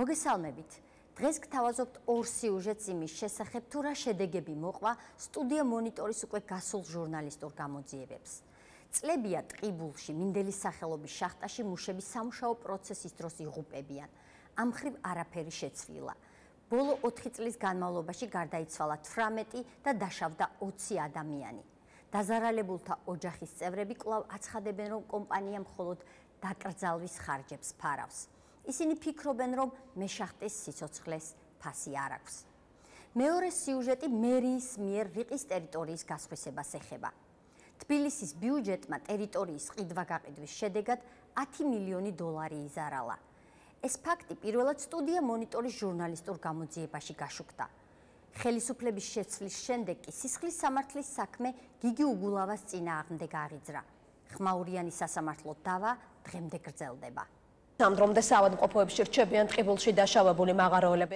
მოგესალმებით. დღეს გთავაზობთ ორ სიუჟეტს იმის შესახებ, თუ რა შედეგები მოყვა სტუდია მონიტორის უკვე გასულ ჟურნალისტურ გამოძიებებს. წლებია ტყიბულში, მინდელის სახელობის შახტაში მუშების სამუშაო პროცესის დროს იღუპებიან. ამ მხრივ არაფერი შეცვლილა. ბოლო 4 წლის განმავლობაში გარდაიცვალა 18 და დაშავდა 20 ადამიანი. დაზარალებულთა ოჯახის წევრები კვლავ აცხადებენ, რომ კომპანია მხოლოდ დაკრძალვის ხარჯებს ფარავს. ისინი ფიქრობენ, რომ მეშახტის სიცოცხლეს ფასი არ აქვს. მეორე სიუჟეტი მერიის მიერ რიყის ტერიტორიის გასხვისებას ეხება. თბილისის ბიუჯეტმა ტერიტორიის ყიდვა-გაყიდვის შედეგად 10 მილიონი დოლარი იზარალა. ეს ფაქტი პირველად სტუდია მონიტორის ჟურნალისტურ გამოძიებაში გაშუქდა. ხელისუფლების შეცვლის შემდეგ კი სისხლის სამართლის საქმე გიგი უგულავას წინააღმდეგ აღიძრა. ხმაურიანი სასამართლო დავა დღემდე გრძელდება.Ამდრომდე საავადმყოფოებში რჩებიან ტყიბულში დაშავებული მაღაროელები.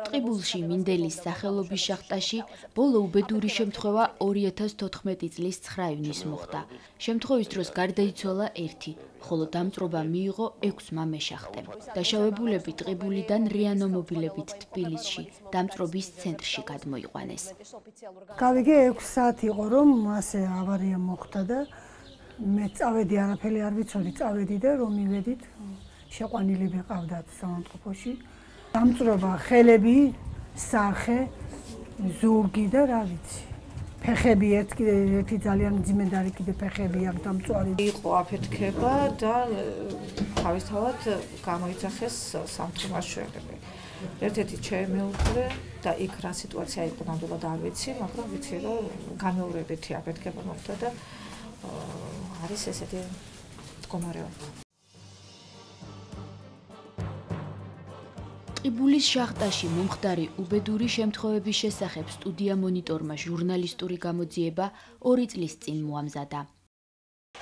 ტყიბულში მინდელის სახელობის შახტაში ბოლო უბედური შემთხვევა 2014 წლის 9 ივნისს მოხდა. შემთხვევის დროს გარდაიცვალა 1, ხოლო დამწვრობა მიიღო 6 მეშახტემ. დაშავებულები ტყიბულიდან რეანიმობილებით თბილისში დამწვრობის ცენტრში გადმოიყვანეს. გავიგე 6 საათი იყო, რომ ასე ავარია მოხდა და მე წავედი, არაფერი არ ვიცოდი, წავედი და რომ მივედით შეყვანილები ყავდათ საავადმყოფოში. დამწვრობა ხელები, სახე, ზურგი და რა ვიცი. ფეხები ერთი ძალიან ძიმედარი კიდე ფეხები აქვს დამწვარი. იყო აფეთქება და თავისთავად გამოიძახეს სამთო მაშველები. ერთ-ერთი ჩემეუღლე და იქ რა სიტუაცია იყო ნამდვილად არ ვიცი, მაგრამ ვიცი რომ გამეორებითი აფეთქება მოხდა და არის ესეთი მდგომარეობა. ტყიბულის შახტაში მომხდარი უბედური შემთხვევების შესახებ სტუდია მონიტორმა ჟურნალისტური გამოძიება 2 წლის წინ მოამზადა.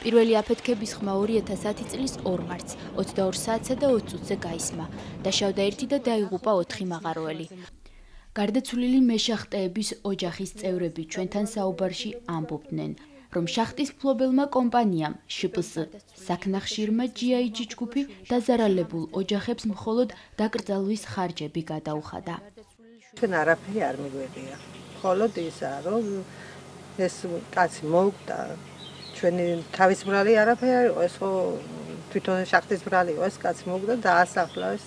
პირველი აფეთქების ხმა 2010 წლის 2 მარტს 22 საათსა და 20 წუთზე გაისმა. დაშავდა 1 და დაიღუპა 4 მაღაროელი. გარდაცვლილი მეშახტეების ოჯახის წევრები ჩვენთან საუბარში ამბობდნენ, რომ შახტის მფლობელმა კომპანიამ შპს საქნახშირმა GIG ჯგუფი დაზარალებულ ოჯახებს მხოლოდ დაკრძალვის ხარჯები გადაუხადა. ჩვენ არაფერი არ მიგვეღია. მხოლოდ ისაა, რომ ეს კაცი მოუკვდა. ჩვენი თავის ბრალი არაფერი არ იყო, ეს ხო თვითონ შახტის ბრალი იყო, ეს კაცი მოუკვდა და დაასახლა ეს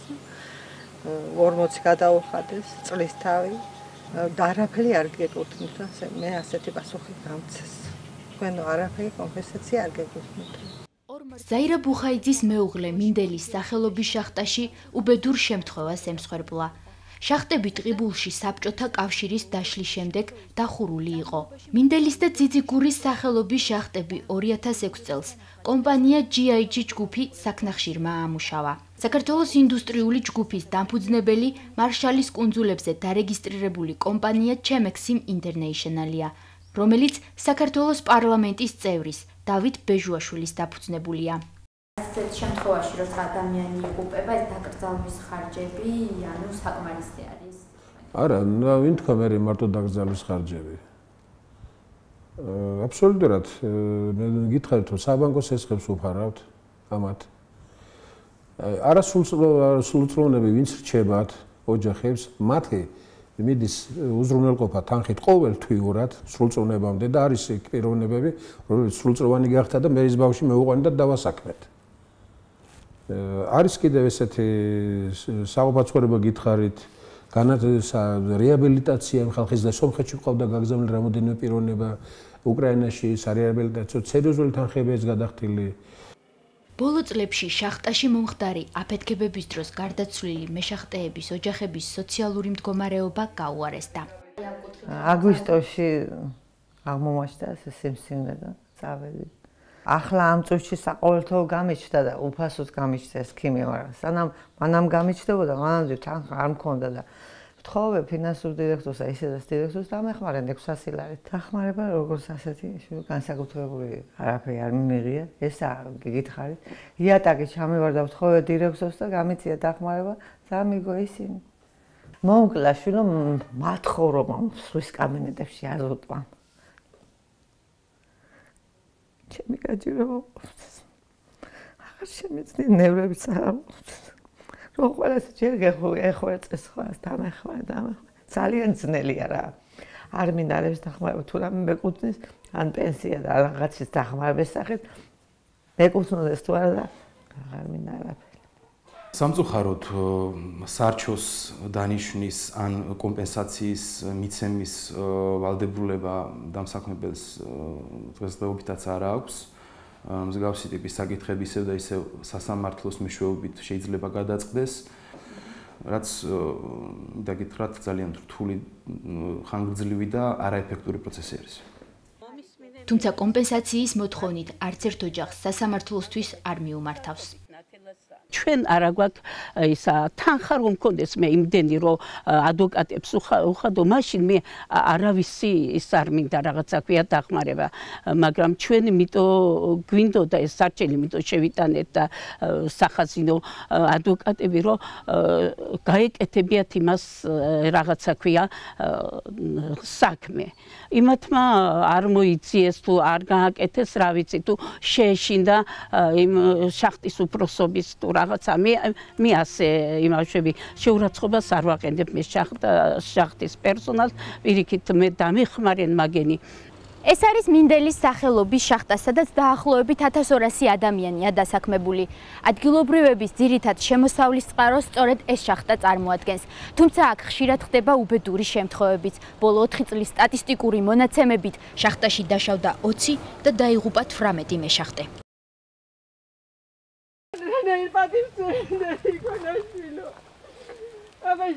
40 გადაუხადეს წლის თავი და არაფერი არ გეკუთვნით. მე ასეთი პასუხი გამცეს. თქვენ არაფერი კომპენსაცია არ გეკუთვნით. ზაირა ბუხაიძის მეუღლე მინდელის სახელობის შახტაში უბედურ შემთხვევას ემსხვერპლა. შახტები ტყიბულში საბჭოთა კავშირის დაშლის შემდეგ დახურული იყო. მინდელის და ძიძიგურის სახელობის შახტები 2006 წელს კომპანია GIG ჯგუფი საქნახშირმა ამუშავა. საქართველოს ინდუსტრიული ჯგუფის დამფუძნებელი მარშალის კუნძულებზე დარეგისტრირებული კომპანია Chemexim International-ია, რომელიც საქართველოს პარლამენტის წევრის დავით ბეჟუაშვილის დაფუძნებულია. ასეთ შემთხვევაში, როცა ადამიანი იღუპება, ეს დაკრძალვის ხარჯები, ანუ საკმარისი არის? არა, ვინ თქვა მე მარტო დაკრძალვის ხარჯები? აბსოლუტურად მე გითხარით, რომ საბანკო სესხებს უფარავთ ამათ. არასრულწლოვნები ვინც რჩებათ ოჯახებს, მათი მიდის უზრუნველყოფა თანხით ყოველთვიურად სრულწლოვნებამდე და არის პიროვნებები, რომელიც სრულწლოვანი გახდა და მერის ბავშვი მეუყვანი და დავასაქმეთ. არის კიდევ ესეთი საუბარცხოვრება გითხარით, რეაბილიტაცია ხალხის და სომხეთში ყავდა გაგზავნილი რამოდენიმე პიროვნება უკრაინაში სარეაბილიტაციო სერიოზული თანხებია გადახდილი. ბოლო წლებში შახტაში მომხდარი აფეთქებების დროს გარდაცვლილი მეშახტეების ოჯახების სოციალური მდგომარეობა გაუარესდა. აგვისტოში აღმომაჩნდა ეს სიმსივნე და წავედი. ახლა ამ წუთში საყოველთაო გამიჩნდა და უფასოდ გამიჩნდა ეს ქიმია, მაგრამ სანამ მანამ გამიჩნდებოდა, მანამდე თანხა არ მქონდა და ვთხოვე ფინანსურ დირექტორსა, ისედაც დირექტორს დამეხმარენ 600 ლარი. დახმარება როგორც ასეთი განსაკუთრებული არაფერი არ მიმიღია, ესა გითხარით. იატაკი ჩამივარ და ვთხოვე დირექტორს და გამიწია დახმარება, სამიგო ისინი. მოუკლა შვილო მათხოვრობა სვის კაბინეტებში არ უტყვა. ჩემი გაჯირება აღარ შემეცდი ნევრებიც არ რომ ყველას ჯერ გეხვეწეს ხოლმე დამეხმარა. ძალიან ძნელია რა. არ მინდა რებს დახმარება, თუ რამე მეკუთვნის, ან პენსია და რაღაცის დახმარების სახით მეკუთვნოდეს თუ არა და აღარ მინდა არაფერი. სამწუხაროდ სარჩოს დანიშვნის ან კომპენსაციის მიცემის ვალდებულება დამსაქმებელს დღესდღეობითაც არ აქვს. მსგავსი ტიპის საკითხები ისევ და ისევ სასამართლოს მეშვეობით შეიძლება გადაწყდეს. რაც დაგითხრათ ძალიან რთული, ხანგრძლივი და არაეფექტური პროცესი არის. თუმცა კომპენსაციის მოთხოვნით არც ერთ ოჯახს სასამართლოსთვის არ მიუმართავს. ჩვენ არა გვაქვს ისა თანხა რომ მქონდეს მე იმდენი რომ ადვოკატებს უხადო მაშინ მე არავისი ის არ მინდა რაღაცა ქვია დახმარება მაგრამ ჩვენ იმიტომ გვინდოდა ეს სარჩელი იმიტომ შევიტანეთ და სახაზინო ადვოკატები რომ გაეკეთებიათ იმას რაღაცა ქვია საქმე იმათმა არ მოიციეს თუ არ გააკეთეს რა ვიცი თუ შეეშინდა იმ შახტის უფროსობის თუ რაღაცა მე ასე იმავშები შეურაცხყოფას არ ვაყენებ მე შახტის პერსონალს პირიქით მე დამეხმარენ მაგენი ეს არის მინდელის სახელობის შახტა, სადაც დაახლოებით 1200 ადამიანია დასაქმებული. ადგილობრივების ძირითად შემოსავლის წყაროს სწორედ ეს შახტა წარმოადგენს. თუმცა აქ ხშირად ხდება უბედური შემთხვევებიც. ბოლო 4 წლის სტატისტიკური მონაცემებით შახტაში დაშავდა 20 და დაიღუპა 18 მეშახტე. აბა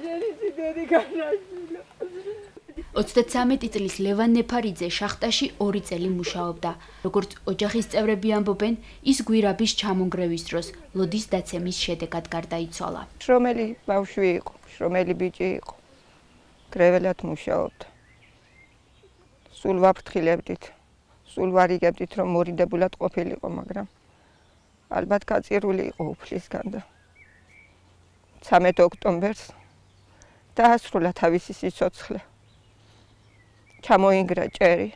33 წლის ლევან ნეფარიძე შახტაში 2 წელი მუშაობდა. როგორც ოჯახის წევრები ამბობენ, ის გვირაბის ჩამონგრევის დროს ლოდის დაცემის შედეგად გარდაიცვალა. შრომელი ბავშვი იყო, შრომელი ბიჭი იყო. გრეველად მუშაობდა. სულ ვაფრთხილებდით, სულ ვარიგებდით, რომ მორიდებულად ყოფილიყო, მაგრამ ალბათ გაწირული იყო უფლისგან და 13 ოქტომბერს დაასრულა თავისი სიცოცხლე. ჩამოინგრა ჭერი.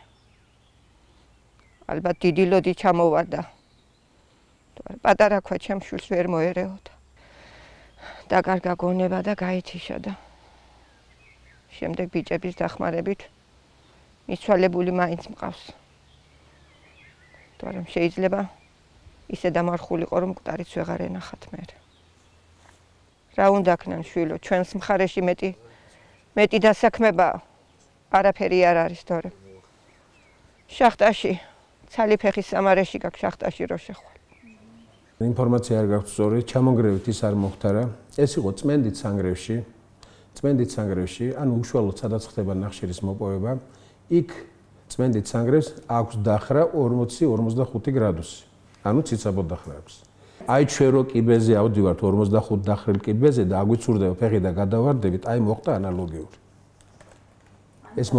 ალბათ დიდი ლოდი ჩამოვარდა. პატარა ქვა ჩემ შვილს ვერ მოერეოდა. დაკარგა გონება და გაითიშა და შემდეგ ბიჭების დახმარებით მიცვალებული მაინც მყავს. თორემ შეიძლება ისე დამარხულიყო რომ მკვდარიც ვეღარ ენახათ მე. რა უნდა ქნან შვილო, ჩვენს მხარეში მეტი დასაქმება არაფერი არ არის თორე. შახტაში, ცალიფეხის სამარეში გაქვს შახტაში რო შეხვალ. ინფორმაცია არ გაქვს სწორი, ჩამონგრევით ის არ მოხდა რა. ეს იყო წმენდით სანგრევში, ანუ უშუალოდ სადაც ხდება ნახშირის მოპოვება, იქ წმენდით სანგრევს აქვს დახრა 40-45 გრადუსი. ანუ ციცაბოდ დახრა აქვს. აი ჩვენ რო კიბეზე ავდივართ 45 დახრილ კიბეზე და აგვიცურდება ფეხი და გადავარდებით, აი მოხდა ანალოგიური. ეს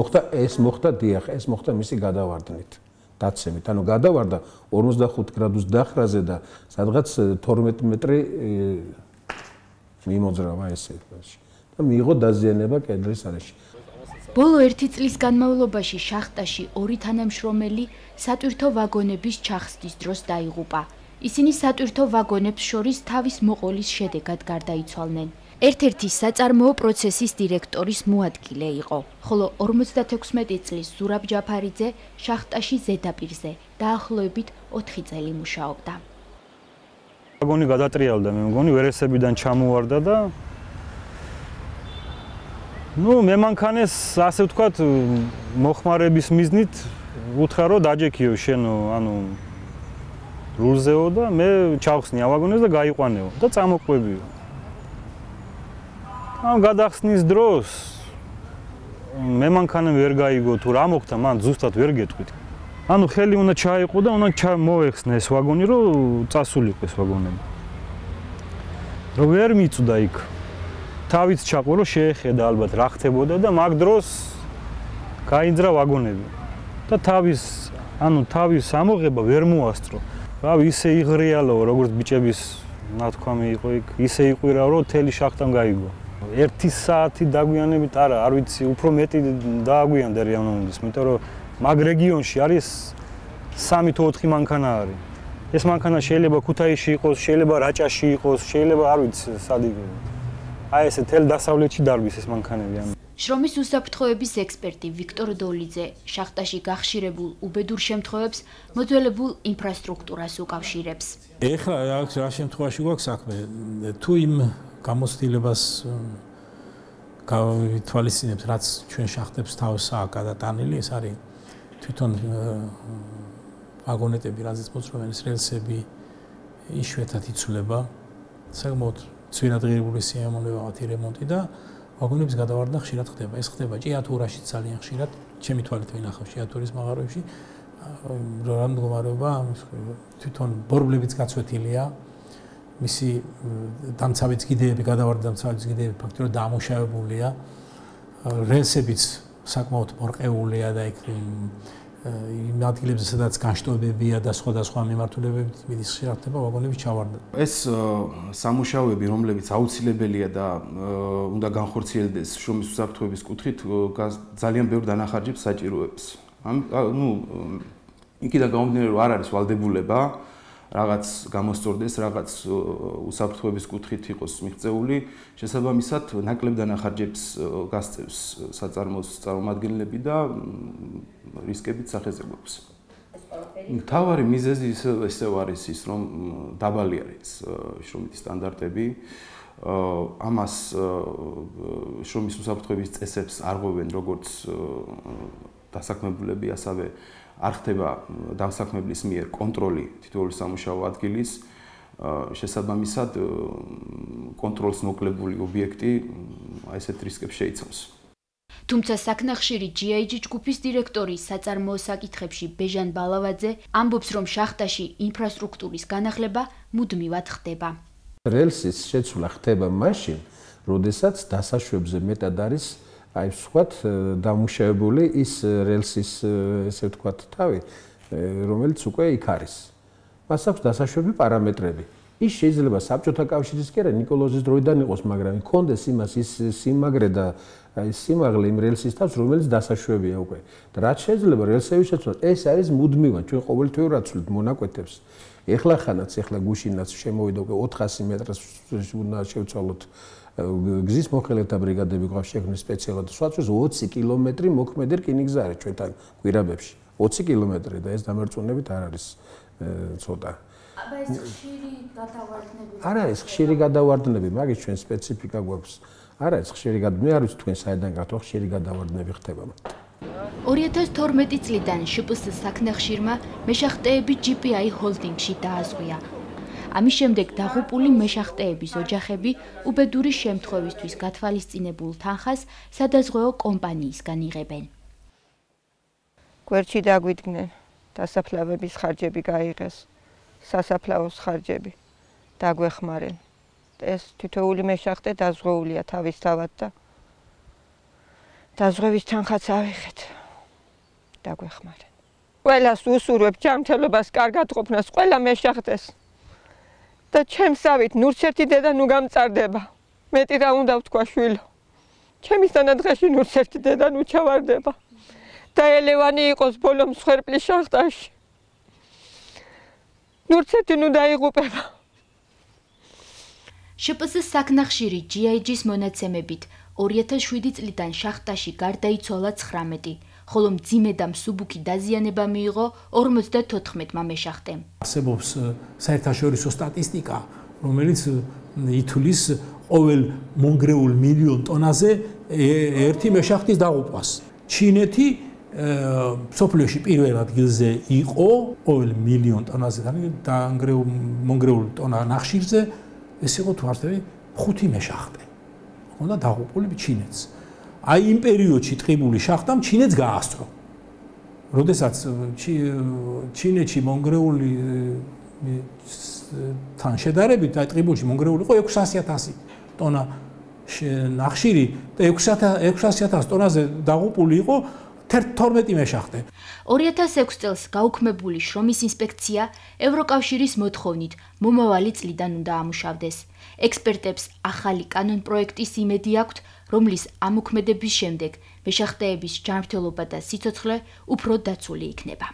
მოხდა დიახ, ეს მოხდა მისი გადავარდნით, დაცემით. ანუ გადავარდა 45 გრადუს დახრაზე და სადღაც 12 მეტრი მიმოძრავა ესე და მიიღო დაზიანება კედლის არეში. ბოლო 1 წლის განმავლობაში შახტაში 2 თანამშრომელი სატვირთო ვაგონების ჩახსნის დროს დაიღუპა. ისინი სატვირთო ვაგონებს შორის თავის მოყოლის შედეგად გარდაიცვალნენ. ერთ-ერთი საწარმოო პროცესის დირექტორის მოადგილე იყო, ხოლო 56 წლის ზურაბ ჯაფარიძე შახტაში ზედაპირზე დაახლოებით 4 წელი მუშაობდა. ვაგონი გადატრიალდა, მე მგონი ვერესებიდან ჩამოვარდა და მე მანქანეს ასე ვთქვათ მოხმარების მიზნით უთხრა რომ დაჯექიო შენ ანუ რულზეო და მე ჩავხსნია ვაგონებს და გაიყვანეო და წამოყვებიო. ამ გადახსნის დროს მე მანქანამ ვერ გაიგო თუ რა მოხდა, მან ზუსტად ვერ გეტყვით. ანუ ხელი უნდა ჩაიყო და უნდა მოეხსნა ეს ვაგონი, რომ წასულიყო ეს ვაგონები. რომ ვერ მიწვდა იქ. თავით ჩაყო, რომ შეეხედა ალბათ რა ხდებოდა და მაგ დროს გაიძრა ვაგონები. და თავის ამოღება ვერ მოასწრო. რავი, ისე იღრიალო, როგორც ბიჭების ნათქვამი იყო იქ, ისე იყვირა, რომ თელი შახტამ გაიგო. 1 საათი დაგვიანებით არა, არ ვიცი, უფრო მეტი დააგვიანდა რეალოვნების, იმიტომ რომ მაგ რეგიონში არის 3 თუ 4 მანქანა არის. ეს მანქანა შეიძლება ქუთაისში იყოს, შეიძლება რაჭაში იყოს, შეიძლება არ ვიცი სად იგივე. აი ესე თელ დასავლეთში დარგვის ეს მანქანები ამ. შრომის უსაფრთხოების ექსპერტი ვიქტორ დოლიძე შახტაში გახშირებულ უბედურ შემთხვევებს მოძველებულ ინფრასტრუქტურას უკავშირებს. ეხლა რა შემთხვევაში გვაქვს საქმე? თუ იმ გამოცდილებას გავითვალისწინებთ, რაც ჩვენ შახტებს თავსაა გადატანილი, ეს არის თვითონ ვაგონეტები, რაზეც მოძრაობენ რელსები, იშვიათად იცვლება, საკმაოდ ძვირადღირებული სიამოვნებაა რემონტი და ვაგონების გადავარდნა ხშირად ხდება. ეს ხდება ჭიათურაში ძალიან ხშირად, ჩემი თვალით ვინახავ ჭიათურის მაღაროებში. რა მდგომარეობა, თვითონ ბორბლებიც გაცვეთილია, მისი დამცავი კიდეები, გადავარდნა დამცავი კიდეები ფაქტობრივად დამუშავებულია. რელსებიც საკმაოდ მორყეულია და იქ იმ ადგილებზე, სადაც განშტოებებია და სხვადასხვა მიმართულებებით მიდის ხშირად ხდება ვაგონების ჩავარდნა. ეს სამუშაოები, რომლებიც აუცილებელია და უნდა განხორციელდეს შრომის უსაფრთხოების კუთხით, ძალიან ბევრ დანახარჯებს საჭიროებს. იქიდან გამომდინარე, რომ არ არის ვალდებულება რაღაც გამოსწორდეს, რაღაც უსაფრთხოების კუთხით იყოს მიღწეული, შესაბამისად ნაკლებ დანახარჯებს გასწევს საწარმოს წარმომადგენლები და რისკებიც სახეზე გვაქვს. მთავარი მიზეზი ისევ არის ის, რომ დაბალი არის შრომითი სტანდარტები. ამას შრომის უსაფრთხოების წესებს არღვევენ როგორც დასაქმებულები, ასევე არ ხდება დამსაქმებლის მიერ კონტროლი თითოეული სამუშაო ადგილის. შესაბამისად კონტროლს მოკლებული ობიექტი ესეთ რისკებს შეიცავს. თუმცა საქნახშირი GIG ჯგუფის დირექტორი საწარმოო საკითხებში ბეჟან ბალავაძე ამბობს, რომ შახტაში ინფრასტრუქტურის განახლება მუდმივად ხდება. რელსის შეცვლა ხდება მაშინ, როდესაც დასაშვებზე მეტად არის აი ვთქვათ დამუშავებული ის რელსის ესე ვთქვათ თავი, რომელიც უკვე იქ არის. მას აქვს დასაშვები პარამეტრები. ის შეიძლება საბჭოთა კავშირის კი არა ნიკოლოზის დროიდან იყოს, მაგრამ იქონდეს იმას ის სიმაგრე და ის სიმაღლე იმ რელსის თავს, რომელიც დასაშვებია უკვე. და რაც შეიძლება რელსების შეცვლა, ეს არის მუდმივად ჩვენ ყოველთვიურად ვცვლით მონაკვეთებს. ეხლა გუშინაც შემოვიდა უკვე 400 მეტრს უნდა შევცვალოთ გზის მოხელეთა ბრიგადები გვაქვს შექმნილი სპეციალურად. სხვათვის 20 კილომეტრი მოქმედი რკინიგზა არის ჩვენთან გვირაბებში. 20 კილომეტრი და ეს დამერწმუნებით არ არის ცოტა. აბა ეს ხშირი გადავარდნები. არა, ეს ხშირი გადავარდნები, მაგის ჩვენ სპეციფიკა გვაქვს. არა, ეს ხშირი მე არ ვიცი თქვენ საიდან გათვალ ხშირი გადავარდნები ხდება. 2012 წლიდან შპს საქნახშირმა მეშახტეები GPI ჰოლდინგში დააზღვია. ამის შემდეგ დაღუპული მეშახტეების ოჯახები უბედური შემთხვევისთვის გათვალისწინებულ თანხას სადაზღვეო კომპანიისგან იღებენ. გვერდში დაგვიდგნენ, დასაფლავების ხარჯები გაიღეს, სასაფლაოს ხარჯები დაგვეხმარენ. ეს თითოეული მეშახტე დაზღვეულია თავისთავად და დაზღვევის თანხაც ავიღეთ. დაგვეხმარენ. ყველას უსურვებ ჯანმრთელობას, კარგად ყოფნას ყველა მეშახტეს. და ჩემსავით ნურცერთი დედა ნუ გამწარდება. მეტი რა უნდა ვთქვა შვილო. ჩემისთანაც დღეში ნურცერთი დედა ნუ ჩავარდება. და ელევანი იყოს ბოლო მსხვერპლის შახტაში. ნურცერთი ნუ დაიღუპება. შპს საქნახშირი GIG-ის მონაცემებით 2007 წლიდან შახტაში გარდაიცვალა 19, ხოლო მძიმე და მსუბუქი დაზიანება მიიღო 54 მეშახტემ. არსებობს საერთაშორისო სტატისტიკა, რომელიც ითვლის ყოველ მონგრეულ მილიონ ტონაზე ერთი მეშახტის დაღუპვას. ჩინეთი სოფლიოში პირველ ადგილზე იყო ყოველ მილიონ ტონაზე და მონგრეულ ტონა ნახშირზე ეს იყო თუ არ ვთქვი 5 მეშახტე. უნდა დაღუპული ჩინეთს. აი იმ პერიოდში ტყიბული შახტამ ჩინეთს გაასწრო. როდესაც ჩინეთში მონგრეული თან შედარებით აი ტყიბულში მონგრეული იყო 600,000 ტონა ნახშირი და 600,000 ტონაზე დაღუპული იყო 12 მეშახტე. 2006 წელს გაუქმებული შრომის ინსპექცია ევროკავშირის მოთხოვნით მომავალი წლიდან უნდა ამუშავდეს. ექსპერტებს ახალი კანონპროექტის იმედი აქვთ, რომლის ამოქმედების შემდეგ მეშახტეების ჯანმრთელობა და სიცოცხლე უფრო დაცული იქნება.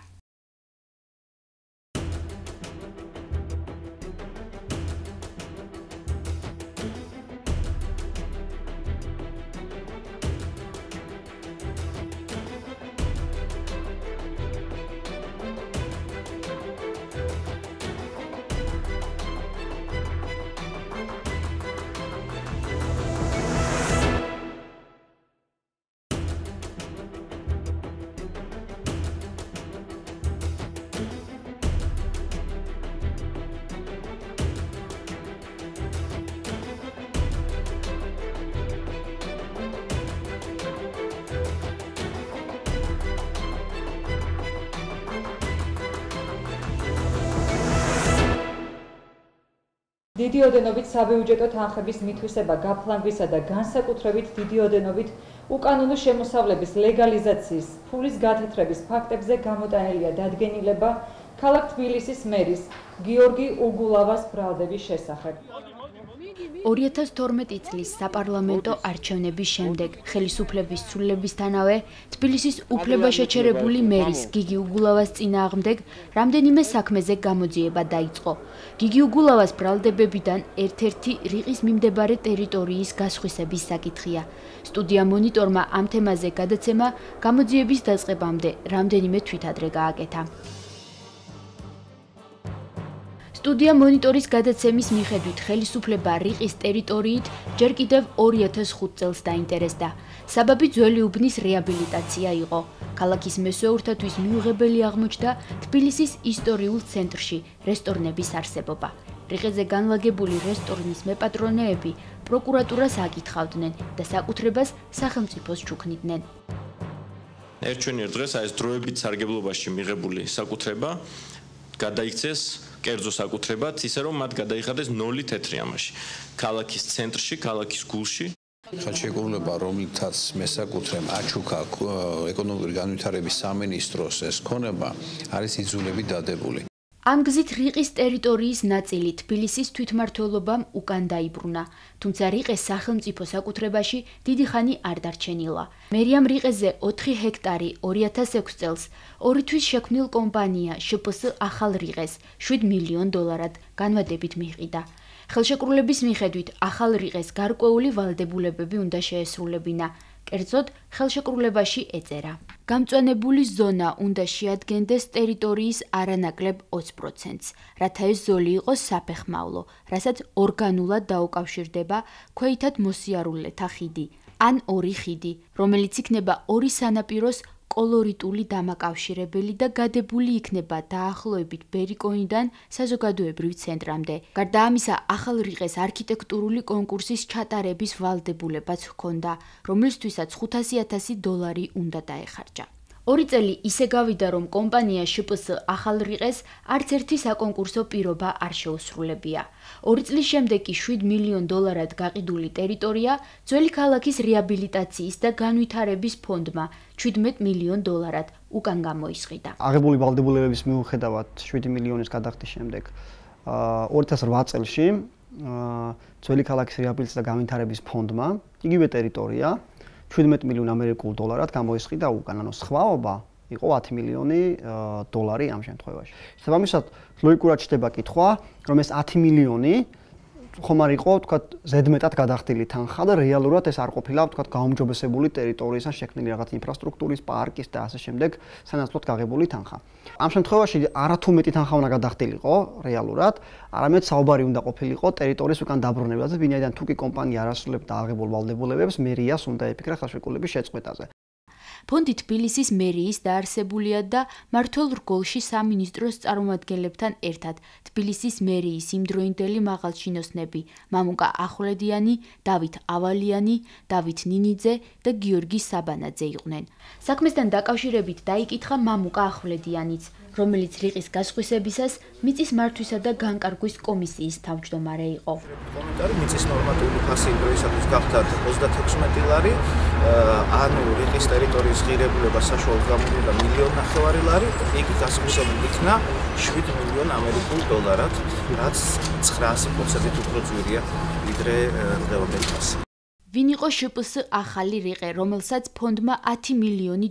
დიდი ოდენობით საბიუჯეტო თანხების მითვისება გაფლანგვისა და განსაკუთრებით დიდი ოდენობით უკანონო შემოსავლების ლეგალიზაციის ფულის გათეთრების ფაქტებზე გამოტანილია დადგენილება ქალაქ თბილისის მერის გიორგი უგულავას ბრალდების შესახებ. 2012 წლის საპარლამენტო არჩევნების შემდეგ ხელისუფლების ცვლილებისთანავე თბილისის უფლებაშეჩერებული მერის გიგი უგულავას წინააღმდეგ რამდენიმე საქმეზე გამოძიება დაიწყო. გიგი უგულავას ბრალდებებიდან ერთ-ერთი რიყის მიმდებარე ტერიტორიის გასხვისების საკითხია. სტუდია მონიტორმა ამ თემაზე გადაცემა გამოძიების დაწყებამდე რამდენიმე თვითადრე გააკეთა. სტუდია მონიტორის გადაცემის მიხედვით ხელისუფლება რიყის ტერიტორიით ჯერ კიდევ 2005 წელს დაინტერესდა. საბაბი ძველი უბნის რეაბილიტაცია იყო. ქალაქის მესვეურთათვის მიუღებელი აღმოჩნდა თბილისის ისტორიულ ცენტრში რესტორნების არსებობა. რიყეზე განლაგებული რესტორნის მეპატრონეები პროკურატურას აკითხავდნენ და საკუთრებას სახელმწიფოს ჩუქნიდნენ. ერთჩვენიერ დღეს ეს დროებით სარგებლობაში მიღებული საკუთრება გადაიქცეს კერძო საკუთრებად, ისე რომ მათ გადაიხადეს 0 თეთრი ამაში. ქალაქის ცენტრში, ქალაქის გულში. ხელშეკრულება, რომლითაც მესაკუთრემ აჩუქა ეკონომიკური განვითარების სამინისტროს ეს ქონება, არის იძულებით დადებული. ამ გზით რიყის ტერიტორიის ნაწილი თბილისის თვითმმართველობამ უკან დაიბრუნა, თუმცა რიყეს სახელმწიფო საკუთრებაში დიდი ხანი არ დარჩენილა. მერიამ რიყეზე 4 ჰექტარი 2006 წელს ორი თვის შექმნილ კომპანია შპს ახალ რიყეს $7 მილიონ განვადებით მიიყიდა. ხელშეკრულების მიხედვით ახალ რიყეს გარკვეული ვალდებულებები უნდა შეესრულებინა. კერძოდ ხელშეკრულებაში ეწერა. გამწვანებული ზონა უნდა შეადგენდეს ტერიტორიის არანაკლებ 20%-ს, რათა ეს ზოლი იყოს საფეხმავლო, რასაც ორგანულად დაუკავშირდება ქვეითად მოსიარულეთა ხიდი, ან ორი ხიდი, რომელიც იქნება ორი სანაპიროს კოლორიტული დამაკავშირებელი და გადებული იქნება დაახლოებით ბერიკოინიდან საზოგადოებრივ ცენტრამდე. გარდა ამისა, ახალ რიყეს არქიტექტურული კონკურსის ჩატარების ვალდებულებაც ჰქონდა, რომლისთვისაც $500,000 უნდა დაეხარჯა. 2 წელი ისე გავიდა, რომ კომპანია შპს ახალ რიყეს არც ერთი საკონკურსო პირობა არ შეუსრულებია. 2 წლის შემდეგ კი $7 მილიონ გაყიდული ტერიტორია ძველი ქალაქის რეაბილიტაციის და განვითარების ფონდმა $17 მილიონ უკან გამოისყიდა. აღებული ვალდებულებების მიუხედავად 7 მილიონის გადახდის შემდეგ 2008 წელში ძველი ქალაქის რეაბილიტაციის და განვითარების ფონდმა იგივე ტერიტორია $17 მილიონ გამოისყიდა უკან, ანუ სხვაობა იყო $10 მილიონი ამ შემთხვევაში. შესაბამისად, ლოგიკურად ჩდება კითხვა, რომ ეს 10 მილიონი ხომ არ იყო, თქვათ, ზედმეტად გადახდილი თანხა და რეალურად ეს არ ყოფილა, თქვათ, გაუმჯობესებული ტერიტორიისგან შექმნილი რაღაც ინფრასტრუქტურის, პარკის და ასე შემდეგ სანაცვლოდ გაღებული თანხა. ამ შემთხვევაში არათუ მეტი თანხა უნდა გადახდილიყო რეალურად, არამედ საუბარი უნდა ყოფილიყო ტერიტორიის უკან დაბრუნებაზე, ვინაიდან თუ კი კომპანია არ ასრულებდა აღებულ ვალდებულებებს, მერიას უნდა ეფიქრა ხელშეკრულების შეწყვეტაზე. ფონდი თბილისის მერიის დაარსებულია და მართლ რგოლში სამინისტროს წარმომადგენლებთან ერთად თბილისის მერიის იმდროინდელი მაღალჩინოსნები მამუკა ახვლედიანი, დავით ავალიანი, დავით ნინიძე და გიორგი საბანაძე იყვნენ. საქმესთან დაკავშირებით დაიკითხა მამუკა ახვლედიანიც, რომელიც რიყის გასხვისებისას მიწის მართვისა და განკარგვის კომისიის თავმჯდომარე იყო. კომენტარი მიწის ნორმატიული ფასი იმ დროისათვის გახდა $36, ანუ რიყის ტერიტორიის ღირებულება საშუალოდ გამოვლინდა $1.5 მილიონ, იგი გასხვისებული იქნა $7 მილიონ, რაც 900%-ით უფრო ძვირია ვიდრე დღევანდელი ფასი. ვინ იყო შპს ახალი რიყე, რომელსაც ფონდმა $10 მილიონი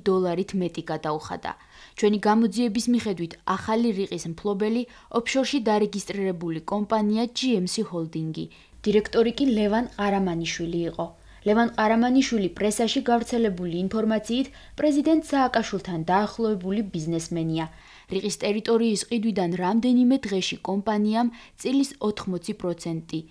მეტი გადაუხადა. ჩვენი გამოძიების მიხედვით ახალი რიყის მფლობელი ოფშორში დარეგისტრირებული კომპანია GMC ჰოლდინგი. დირექტორი კი ლევან ყარამანიშვილი იყო. ლევან ყარამანიშვილი პრესაში გავრცელებული ინფორმაციით პრეზიდენტ სააკაშვილთან დაახლოებული ბიზნესმენია. რიყის ტერიტორიის ყიდვიდან რამდენიმე დღეში კომპანიამ წილის 80%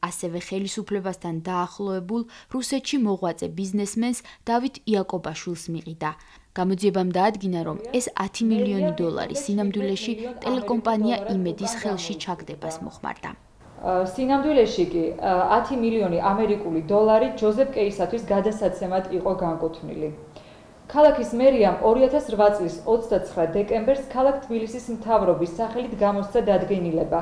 ასევე ხელისუფლებასთან დაახლოებულ რუსეთში მოღვაწე ბიზნესმენს დავით იაკობაშვილს მიყიდა. გამოძიებამ დაადგინა, რომ ეს $10 მილიონი სინამდვილეში ტელეკომპანია იმედის ხელში ჩაგდებას მოხმარდა. სინამდვილეში კი $10 მილიონი ჯოზეფ კეისათვის გადასაცემად იყო განკუთვნილი. ქალაქის მერიამ 2008 წლის 29 დეკემბერს ქალაქ თბილისის მთავრობის სახელით გამოსცა დადგენილება,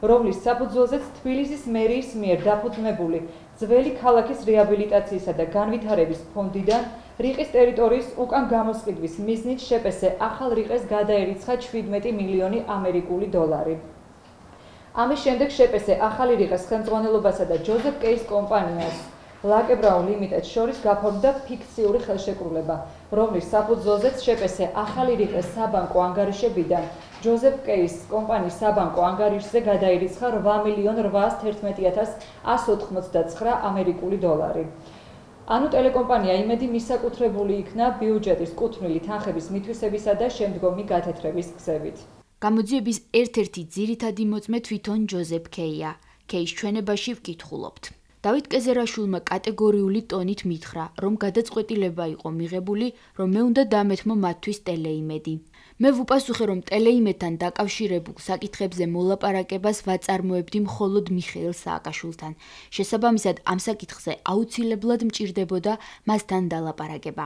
რომლის საფუძველზეც თბილისის მერიის მიერ დაფუძნებული ძველი ქალაქის რეაბილიტაციისა და განვითარების ფონდიდან რიყის ტერიტორიის უკან გამოსყიდვის მიზნით შპს ახალ რიყეს გადაერიცხა 17 მილიონი ამერიკული დოლარი. ამის შემდეგ შპს ახალი რიყეს ხელმძღვანელობასა და ჯოზეფ კეის კომპანიას ლაკე ბრაუნ ლიმიტედს შორის გაფორმდა ფიქციური ხელშეკრულება, რომლის საფუძველზეც შპს ახალი რიყეს საბანკო ანგარიშებიდან ჯოზეფ კეის კომპანიის საბანკო ანგარიშზე გადაერიცხა 8.811.199 ამერიკული დოლარი. ანუ ტელეკომპანია იმედი მისაკუთრებული იქნა ბიუჯეტის კუთვნილი თანხების მითვისებისა და შემდგომი გათეთრების გზებით. გამოძიების ერთ-ერთი ძირითადი მოწმე თვითონ ჯოზეფ კეია. კეის ჩვენებაში ვკითხულობთ. დავით კეზერაშვილმა კატეგორიული ტონით მითხრა, რომ გადაწყვეტილება იყო მიღებული, რომ მე უნდა დამეთმო მათთვის ტელეიმედი. მე ვუპასუხე, რომ ტელეიმედთან დაკავშირებულ საკითხებზე მოლაპარაკებას ვაწარმოებდი მხოლოდ მიხეილ სააკაშვილთან. შესაბამისად, ამ საკითხზე აუცილებლად მჭირდებოდა მასთან დალაპარაკება.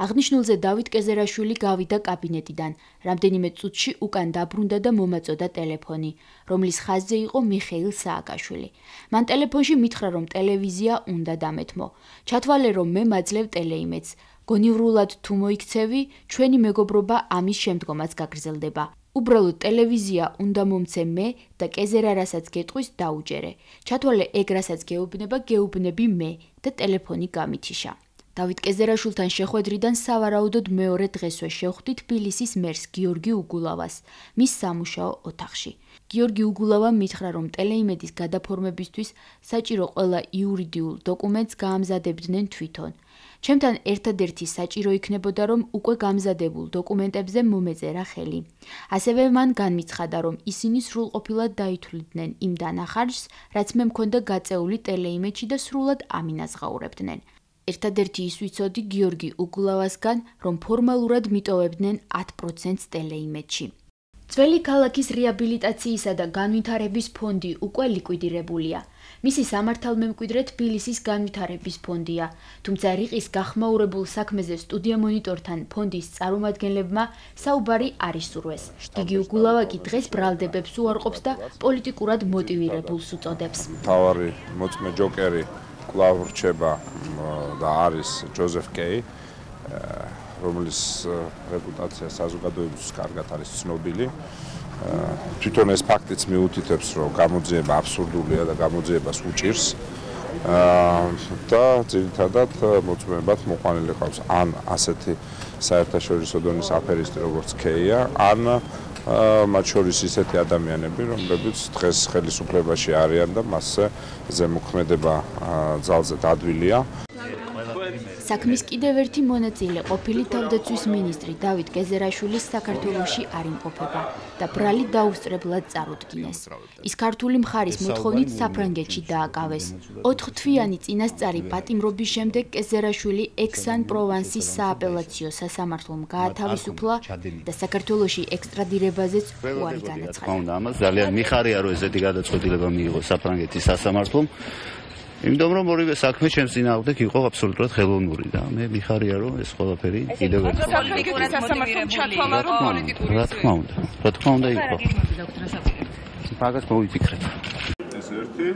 აღნიშნულზე დავით კეზერაშვილი გავიდა კაბინეტიდან. რამდენიმე წუთში უკან დაბრუნდა და მომაწოდა ტელეფონი, რომლის ხაზზე იყო მიხეილ სააკაშვილი. მან ტელეფონში მითხრა, რომ ტელევიზია უნდა დამეთმო. ჩათვალე, რომ მე მაძლევ ტელეიმედს. გონივრულად თუ მოიქცევი, ჩვენი მეგობრობა ამის შემდგომაც გაგრძელდება. უბრალოდ ტელევიზია უნდა მომცე მე და კეზერა რასაც გეტყვის დაუჯერე. ჩათვალე ეგ რასაც გეუბნება, გეუბნები მე და ტელეფონი გამითიშა. დავით კეზერაშვილთან შეხვედრიდან სავარაუდოდ მეორე დღესვე შევხვდი თბილისის მერს გიორგი უგულავას, მის სამუშაო ოთახში. გიორგი უგულავამ მითხრა, რომ ტელეიმედის გადაფორმებისთვის საჭირო ყველა იურიდიულ დოკუმენტს გაამზადებდნენ თვითონ. ჩემთან ერთადერთი საჭირო იქნებოდა, რომ უკვე გამზადებულ დოკუმენტებზე მომეწერა ხელი. ასევე მან განმიცხადა, რომ ისინი სრულყოფილად დაითვლიდნენ იმ დანახარჯს, რაც მე მქონდა გაწეული ტელეიმედში და სრულად ამინაზღაურებდნენ. ერთადერთი ის ვიცოდი გიორგი უგულავასგან, რომ ფორმალურად მიტოვებდნენ 10%-ს ტელეიმედში. ძველი ქალაქის რეაბილიტაციისა და განვითარების ფონდი უკვე ლიკვიდირებულია. მისი სამართალმემკვიდრე თბილისის განვითარების ფონდია, თუმცა რიყის გახმაურებულ საქმეზე სტუდია მონიტორთან ფონდის წარმომადგენლებმა საუბარი არ ისურვეს. გიგი უგულავა კი დღეს ბრალდებებს უარყოფს და პოლიტიკურად მოტივირებულს უწოდებს. მთავარი მოწმე ჯოკერი კვლავ რჩება და არის ჯოზეფ კეი, რომლის რეპუტაცია საზოგადოებისთვის კარგად არის ცნობილი. თვითონ ეს ფაქტიც მიუთითებს, რომ გამოძიება აბსურდულია და გამოძიებას უჭირს. და ძირითადად მოწმეებად მოყვანილი ყავს ან ასეთი საერთაშორისო დონის აფერისტი, როგორც კეია, ან მათ შორის ისეთი ადამიანები, რომლებიც დღეს ხელისუფლებაში არიან და მასზე ზემოქმედება ძალზე დადვილია. საქმის კიდევ ერთი მონაწილე ყოფილი თავდაცვის მინისტრი დავით კეზერაშვილის საქართველოში არ იმყოფება და ბრალი დაუსწრებლად წარუდგინეს. ის ქართული მხარის მოთხოვნით საფრანგეთში დააკავეს. 4 თვიანი წინასწარი პატიმრობის შემდეგ კეზერაშვილი ექსან-პროვანსის სააპელაციო სასამართლომ გაათავისუფლა და საქართველოში ექსტრადირებაზეც უარი განაცხადა. ამას ძალიან მიხარია, რომ ესეთი გადაწყვეტილება მიიღო საფრანგეთის სასამართლომ. იმიტომ რომ ორივე საქმე ჩემს წინააღმდეგ იყო აბსოლუტურად ხელოვნური და მე მიხარია რომ ეს ყველაფერი კიდევ ერთხელ რა თქმა უნდა იყო. მაგას მოვიფიქრეთ. ეს ერთი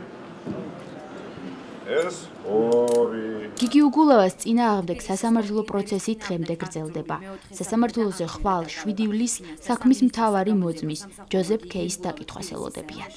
ეს ორი. გიგი უგულავას წინააღმდეგ სასამართლო პროცესი დღემდე გრძელდება. სასამართლოზე ხვალ 7 ივლისს საქმის მთავარი მოწმის ჯოზეფ კეის დაკითხვას ელოდებიან.